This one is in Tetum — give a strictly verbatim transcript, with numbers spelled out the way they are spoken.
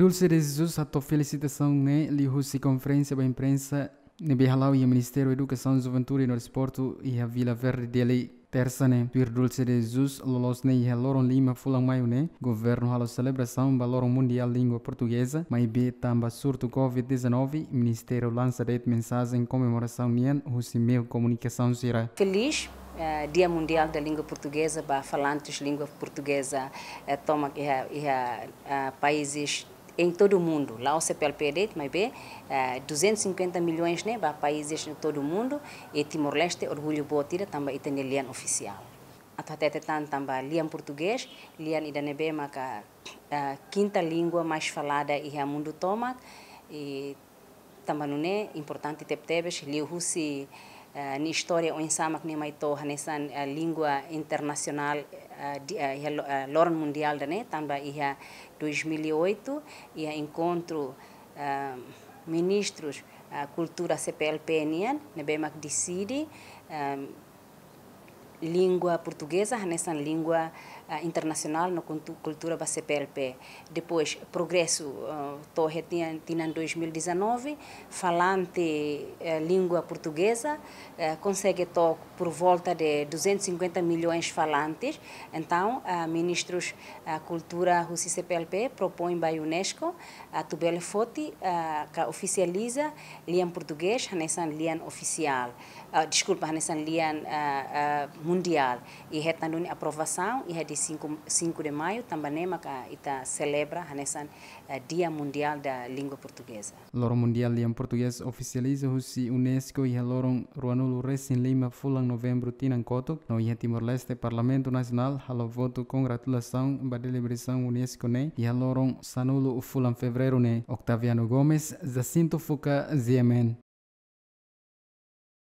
Dulce de Jesus hato'o felisitasaun ne'e liuhusi konferénsia ba imprensa ne'ebé hala'o iha Ministériu Edukasaun, Juventude no Desportu iha Vila Verde, Dili, Tersa ne'e. Tuir Dulce de Jesus, loloos ne'e iha loron lima fulan Maiu ne'e, governu halo selebrasaun ba Loron Mundiál Língua Portugeza, maibé tanba surtu covid dezanove, Ministériu lansa de'it mensajen komemorasaun nian husi meiu komunikasaun sira. Feliz, eh, Dia Mundial da Língua Portuguesa ba falantes língua portuguesa, eh, tomak iha, iha, ah, países em todo o mundo. La'ós CPLP de'it, maibé, eh, duzentos e cinquenta milhões ne'e ba países em todo o mundo, i Timor-Leste orgullu boot ida tanba ita-nia lian ofisiál. Atu hatete tan tanba lian portugés, lian ida ne'ebé maka, eh, kinta língua mais falada iha mundu tomak, i tanba nune'e importante tebetebes, liuhusi, eh, nia istória oinsá mak nia mai to'o hanesan, eh, língua internasionál, eh, di, eh, iha lo-, eh, loron mundiál ida-ne'e, tanba iha dois mil e oito, iha enkontru, eh, ministrus, eh, kultura CPLP nian, ne'ebé mak deside, eh, língua portugeza hanesan língua, ah, internasionál no kuntu-, kultura ba CPLP. Depois, progresu, ah, to'o iha tinan, tinan dois mil e dezanove, falante, eh, língua portugeza, eh, konsege to'o por volta de duzentos e cinquenta milhões falantes. Entaun, ah, ministrus, ah, kultura husi CPLP propoin ba UNESCO atu bele foti, ah, ka ofisializa lian portugés hanesan lian ofisiál. Ah, deskulpa, hanesan lian, ah, ah, mundiál. I hetan duni aprovasaun iha dia cinco, cinco de Maio, tanba ne'e maka ita selebra hanesan, ah, Dia Mundial da Língua Portuguesa. Loron Mundiál Lian Portugés ofisializa husi UNESCO iha loron ruanulu resin lima fulan Novembru tinan kotuk, no iha Timor-Leste Parlamentu Nasionál halo votu kongratulasaun ba deliberasaun UNESCO ne'e iha loron sanulu fulan Fevereiru ne'e. Octaviano Gomes, Jacinto Fuca, G M N.